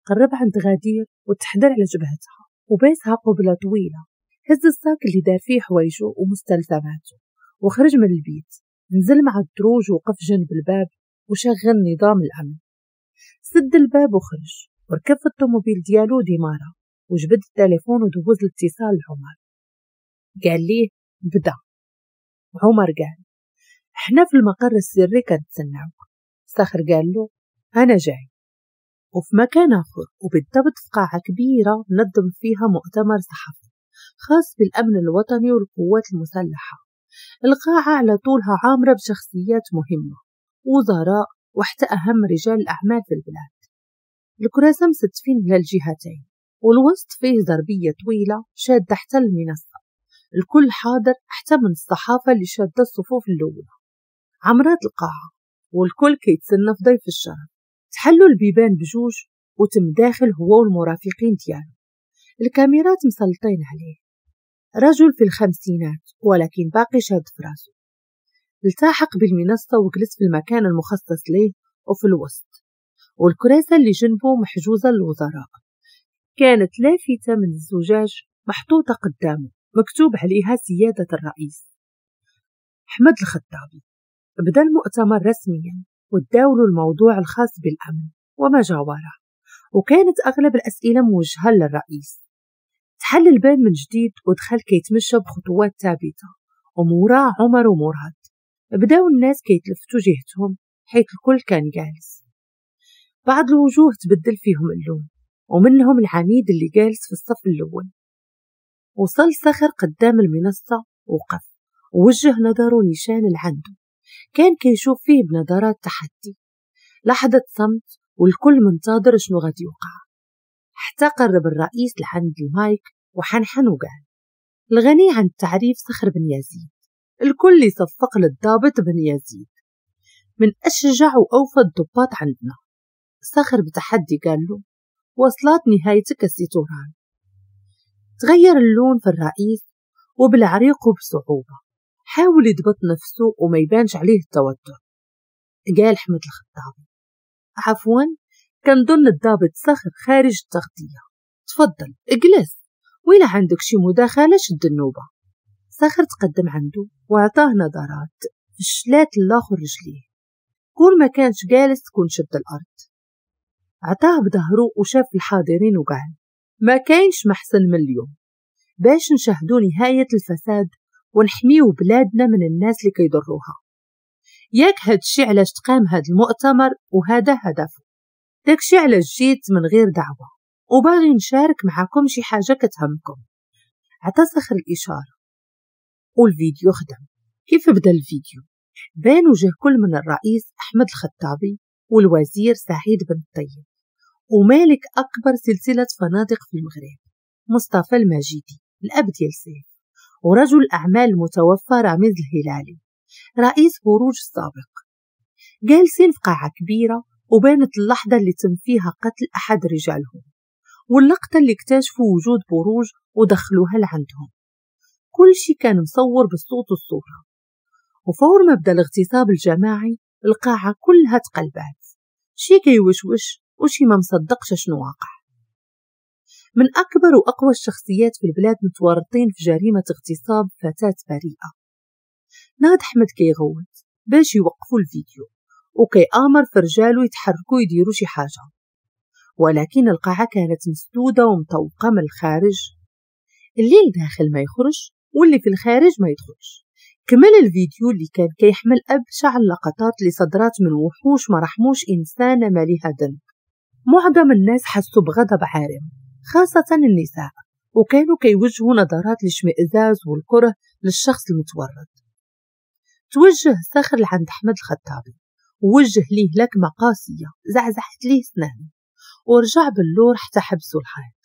قرب عند غدير وتحدر على جبهتها وباسها قبلة طويلة. هز الساك اللي دار فيه حوايجو ومستلزماته وخرج من البيت. نزل مع الدروج وقف جنب الباب وشغل نظام الأمن. سد الباب وخرج وركب في الطوموبيل ديالو ديمارا وجبد التليفون ودوز الاتصال لعمر. قال ليه بدا. عمر قال احنا في المقر السري كنتسناوك. صخر قال له انا جاي. وفي مكان اخر وبالضبط في قاعة كبيرة نظم فيها مؤتمر صحفي خاص بالامن الوطني والقوات المسلحة. القاعة على طولها عامرة بشخصيات مهمة، وزراء، وحتى اهم رجال الاعمال في البلاد. الكراسة مستفين على الجهتين والوسط فيه ضربية طويلة شادة حتى المنصة. الكل حاضر حتى من الصحافة اللي شادة الصفوف الأولى. عمرات القاعة والكل كيتسنى في ضيف الشرف. تحلوا البيبان بجوج وتم داخل هو والمرافقين ديالو. الكاميرات مسلطين عليه. رجل في الخمسينات ولكن باقي شاد في راسه. التحق بالمنصة وجلس في المكان المخصص ليه وفي الوسط، والكراسة اللي جنبه محجوزة للوزراء. كانت لافتة من الزجاج محطوطة قدامه مكتوب عليها سيادة الرئيس أحمد الخطابي. بدأ المؤتمر رسميا وتداولوا الموضوع الخاص بالأمن وما جاوره، وكانت أغلب الأسئلة موجهة للرئيس. تحل الباب من جديد ودخل كيتمشى بخطوات ثابتة وموراه عمر ومراد. بداو الناس كيتلفتوا جهتهم حيث الكل كان جالس. بعض الوجوه تبدل فيهم اللون، ومنهم العميد اللي جالس في الصف الأول. وصل صخر قدام المنصة وقف ووجه نظره نيشان لعنده. كان كيشوف فيه بنظرات تحدي. لحظة صمت والكل منتظر شنو غادي يوقع، حتى قرب الرئيس لعند المايك وحنحن وقال الغني عن التعريف صخر بن يزيد. الكل يصفق للضابط بن يزيد، من أشجع وأوفى الضباط عندنا. صخر بتحدي قال له وصلت نهايتك السي توران. تغير اللون في الرئيس وبالعريق بصعوبة حاول يضبط نفسه وما يبانش عليه التوتر. قال أحمد الخطابي عفوا كنظن الضابط صخر خارج التغطية، تفضل اجلس، وإلا عندك شي مداخلة شد النوبة. صخر تقدم عنده وعطاه نظرات فشلات الآخر رجليه، كون ما كانش جالس تكون شد الأرض. عطاه بظهره وشاف الحاضرين وقال ما كاينش محسن من اليوم باش نشاهدوا نهاية الفساد ونحميو بلادنا من الناس اللي كيضروها. ياك هادشي علاش تقام هاد المؤتمر وهذا هدفه، داكشي علاش جيت من غير دعوة وباغي نشارك معاكم شي حاجة كتهمكم. عطا صخر الإشارة والفيديو خدم. كيف بدا الفيديو بان وجه كل من الرئيس أحمد الخطابي والوزير سعيد بن الطيب ومالك أكبر سلسلة فنادق في المغرب مصطفى المجيدي الأب ديال سيف، ورجل الأعمال المتوفى رامز الهلالي رئيس بروج السابق. جالسين في قاعة كبيرة وبانت اللحظة اللي تم فيها قتل أحد رجالهم واللقطة اللي اكتشفوا وجود بروج ودخلوها لعندهم. كل شي كان مصور بالصوت والصورة. وفور ما بدا الاغتصاب الجماعي القاعة كلها تقلبات، شي كيوشوش وشي ما مصدقش شنو واقع. من أكبر وأقوى الشخصيات في البلاد متورطين في جريمة اغتصاب فتاة بريئة. ناض أحمد كيغوت باش يوقفوا الفيديو وكيآمر في رجالو يتحركوا يديروا شي حاجة. ولكن القاعة كانت مسدودة ومطوقة من الخارج، اللي الداخل ما يخرج واللي في الخارج ما يدخلش. كمل الفيديو اللي كان كيحمل أبشع اللقطات اللي صدرات من وحوش ما رحموش إنسانة ما لها ذنب. معظم الناس حسوا بغضب عارم، خاصة النساء، وكانوا كيوجهوا نظرات الاشمئزاز والكره للشخص المتورط. توجه صخر لعند أحمد الخطابي ووجه ليه لكمة قاسية زعزعت ليه سنانه، ورجع باللور حتى حبسوا الحيط.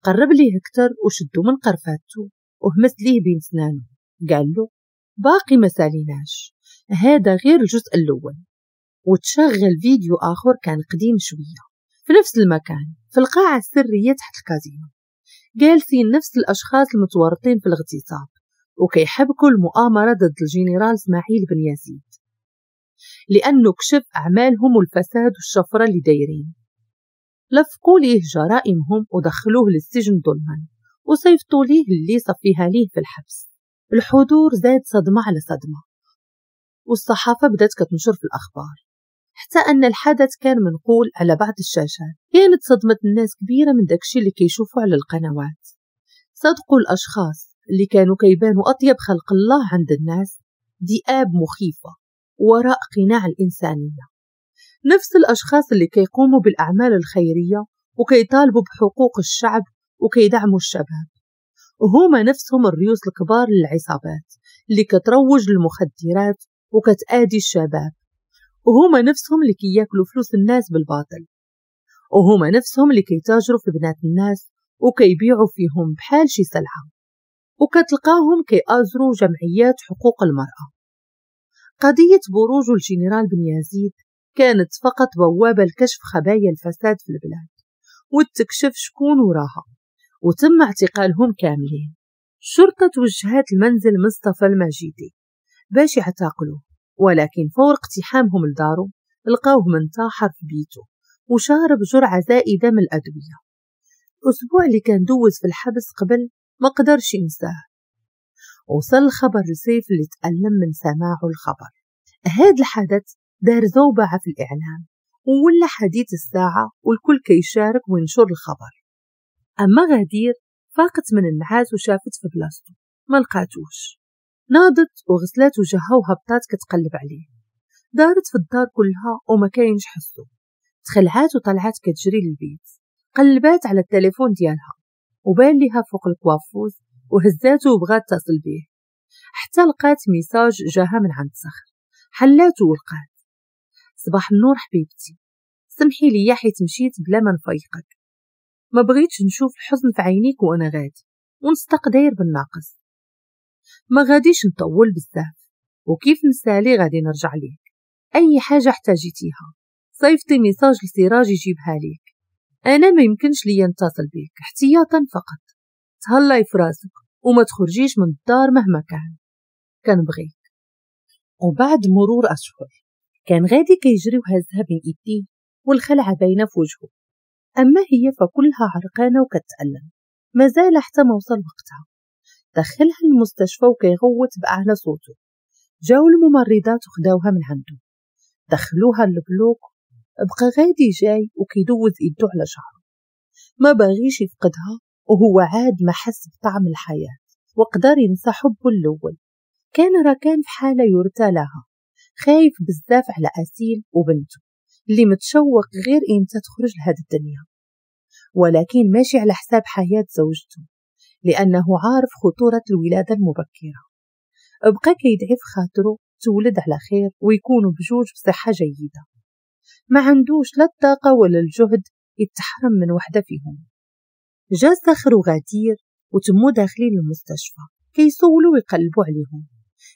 قرب ليه اكتر وشدو من قرفاتو وهمس ليه بين سنانه، قال له باقي ما ساليناش، هذا غير الجزء الأول. وتشغل فيديو آخر كان قديم شوية في نفس المكان في القاعة السرية تحت الكازينو، جالسين نفس الأشخاص المتورطين في الاغتصاب وكيحبكوا المؤامرة ضد الجنرال اسماعيل بن يزيد، لأنه كشف أعمالهم والفساد والشفرة اللي دايرين. لفقوا ليه جرائمهم ودخلوه للسجن ظلما، وصيفطوا ليه اللي صفيها ليه في الحبس. الحضور زاد صدمة على صدمة، والصحافة بدأت كتنشر في الأخبار، حتى أن الحدث كان منقول على بعض الشاشات. كانت صدمة الناس كبيرة من داكشي اللي كيشوفوا على القنوات. صدقوا الأشخاص اللي كانوا كيبانوا أطيب خلق الله عند الناس ذئاب مخيفة وراء قناع الإنسانية. نفس الأشخاص اللي كيقوموا بالأعمال الخيرية وكيطالبوا بحقوق الشعب وكيدعموا الشباب، وهما نفسهم الريوس الكبار للعصابات اللي كتروج للمخدرات وكتآدي الشباب، وهما نفسهم اللي كياكلوا فلوس الناس بالباطل، وهما نفسهم اللي كيتاجروا في بنات الناس وكيبيعوا فيهم بحال شي سلعة، وكتلقاهم كيآزروا جمعيات حقوق المرأة. قضية بروج الجنرال بن يزيد كانت فقط بوابة لكشف خبايا الفساد في البلاد وتكشف شكون وراها، وتم اعتقالهم كاملين. الشرطة توجهت المنزل مصطفى المجيدي باش يعتقلوه، ولكن فور اقتحامهم لدارو لقاوه منتحر في بيته وشارب جرعة زائدة من الأدوية. الأسبوع اللي كان دوز في الحبس قبل ما قدرش ينساه. وصل الخبر لسيف اللي تألم من سماعه الخبر. هذا الحدث دار زوبعة في الإعلام ولا حديث الساعة، والكل كيشارك وينشر الخبر. أما غدير فاقت من النعاس وشافت في بلاصتو ما لقاتوش. ناضت وغسلات وجهها وهبطات كتقلب عليه، دارت في الدار كلها وما كاينش حسو. تخلعات وطلعات كتجري للبيت، قلبات على التليفون ديالها وبان ليها فوق ال coiffeuse وهزاتو وبغات تصل بيه، حتى لقات message جاها من عند صخر. حلاتو ولقات: صباح النور حبيبتي، سمحي لي حيت مشيت بلا ما نفيقك، ما بغيتش نشوف الحزن في عينيك وانا غادي ونستق داير بالناقص، ما غاديش نطول بزاف وكيف نسالي غادي نرجع ليك، اي حاجه احتاجيتيها صيفطي message لسراج يجيبها ليك، انا ما يمكنش ليا نتصل بيك احتياطا فقط، تهلاي في راسك وما تخرجيش من الدار مهما كان، كنبغيك. وبعد مرور اشهر كان غادي كيجري وهزها بين ايديه والخلعه باينه في وجهه، اما هي فكلها عرقانه وكتألم، مازال حتى ما وصل وقتها. دخلها المستشفى وكيغوت بأعلى صوته. جاو الممرضات وخداوها من عنده، دخلوها لل bloc. بقى غادي جاي وكيدوز ايدو على شعره، ما باغيش يفقدها، وهو عاد ما حس بطعم الحياة وقدر ينسى حبه الأول. كان راكان في حالة يرثى لها، خايف بزاف على أسيل وبنته اللي متشوق غير إمتى تخرج لهاد الدنيا، ولكن ماشي على حساب حياة زوجته لأنه عارف خطورة الولادة المبكرة. بقى كيدعي في خاطره تولد على خير ويكونوا بجوج بصحة جيدة، ما عندوش لا الطاقة ولا الجهد يتحرم من وحدة فيهم. جا صخر وغدير وتمو داخلين المستشفى كيسولوا ويقلبوا عليهم.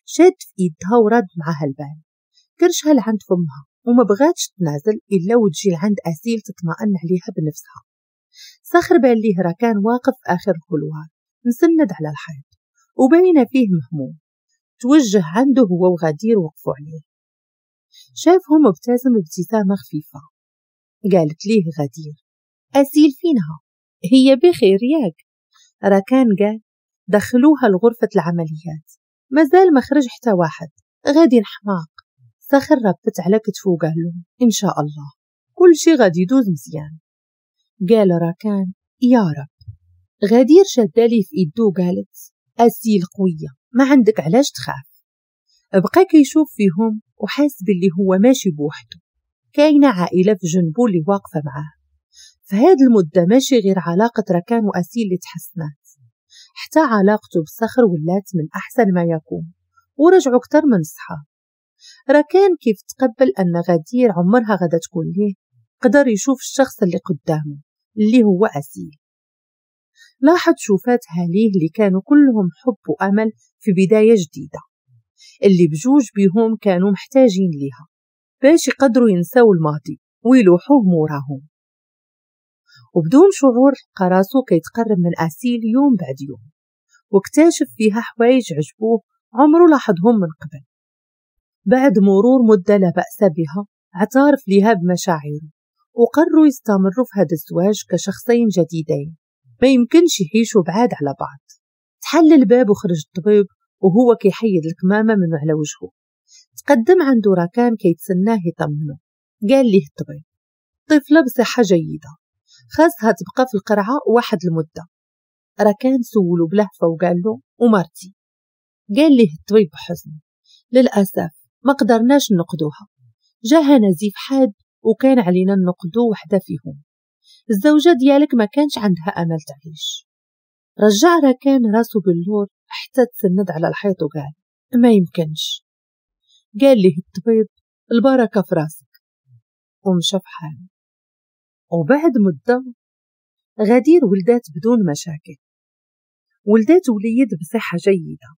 شاد في ايدها وراد معاها البال، كرشها لعند فمها وما بغاتش تنازل الا وتجي لعند اسيل تطمئن عليها بنفسها. صخر بان ليه راكان واقف في اخر ال couloir مسند على الحيط وباين فيه مهموم. توجه عنده هو وغدير وقفوا عليه. شافهم ابتسم ابتسامة خفيفة. قالت ليه غدير: أسيل فينها؟ هي بخير ياك؟ راكان قال: دخلوها لغرفة العمليات، مازال ما خرج حتى واحد، غادي نحماق. صخر ربت على كتفو وقال له: إن شاء الله. كل شي غادي يدوز مزيان. قال راكان يا رب. غدير شادة ليه في ايدو وقالت أسيل قوية، ما عندك علاش تخاف. بقى كيشوف فيهم وحاس باللي هو ماشي بوحده، كاينة عائلة في جنبو اللي واقفة معاه. في هاد المدة ماشي غير علاقة ركان وأسيل اللي تحسنات، حتى علاقته بصخر ولات من أحسن ما يكون، ورجعوا أكتر من الصحاب. ركان كيف تقبل أن غدير عمرها غدا تكون ليه، قدر يشوف الشخص اللي قدامه اللي هو أسيل. لاحظ شوفاتها ليه اللي كانوا كلهم حب وأمل في بداية جديدة، اللي بجوج بيهم كانوا محتاجين ليها باش يقدروا ينسوا الماضي ويلوحوه موراهم. وبدون شعور لقى راسو كيتقرب من أسيل يوم بعد يوم، واكتشف فيها حوايج عجبوه عمره لاحظهم من قبل. بعد مرور مدة لا بأس بها اعترف ليها بمشاعره، وقرروا يستمروا في هذا الزواج كشخصين جديدين ما يمكنش يعيشوا بعاد على بعض. تحل الباب وخرج الطبيب وهو كيحيد الكمامة من على وجهه. تقدم عنده راكان كيتسناه يطمنه. قال ليه الطبيب طفلة بصحة جيدة، خاصها تبقى في القرعة واحد المدة. راكان سولو بلهفة وقال له ومرتي؟ قال ليه الطبيب بحزن للأسف ما قدرناش نقدوها، جاها نزيف حاد وكان علينا نقدو وحدة فيهم، الزوجة ديالك ما كانش عندها أمل تعيش. رجع راكان راسو باللور حتى تسند على الحيط وقال ما يمكنش. قال ليه الطبيب البركة في راسك، ومشى في حاله. وبعد مدة غدير ولدات بدون مشاكل، ولدات وليد بصحة جيدة،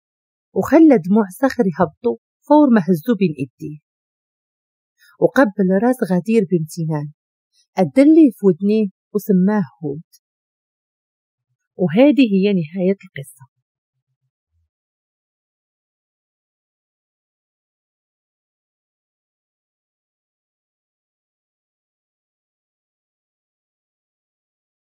وخلى دموع صخر يهبطوا فور ما هزو بين ايديه. وقبل راس غدير بامتنان، أدليه في ودنيه وسماه هود. وهذه هي نهاية القصة.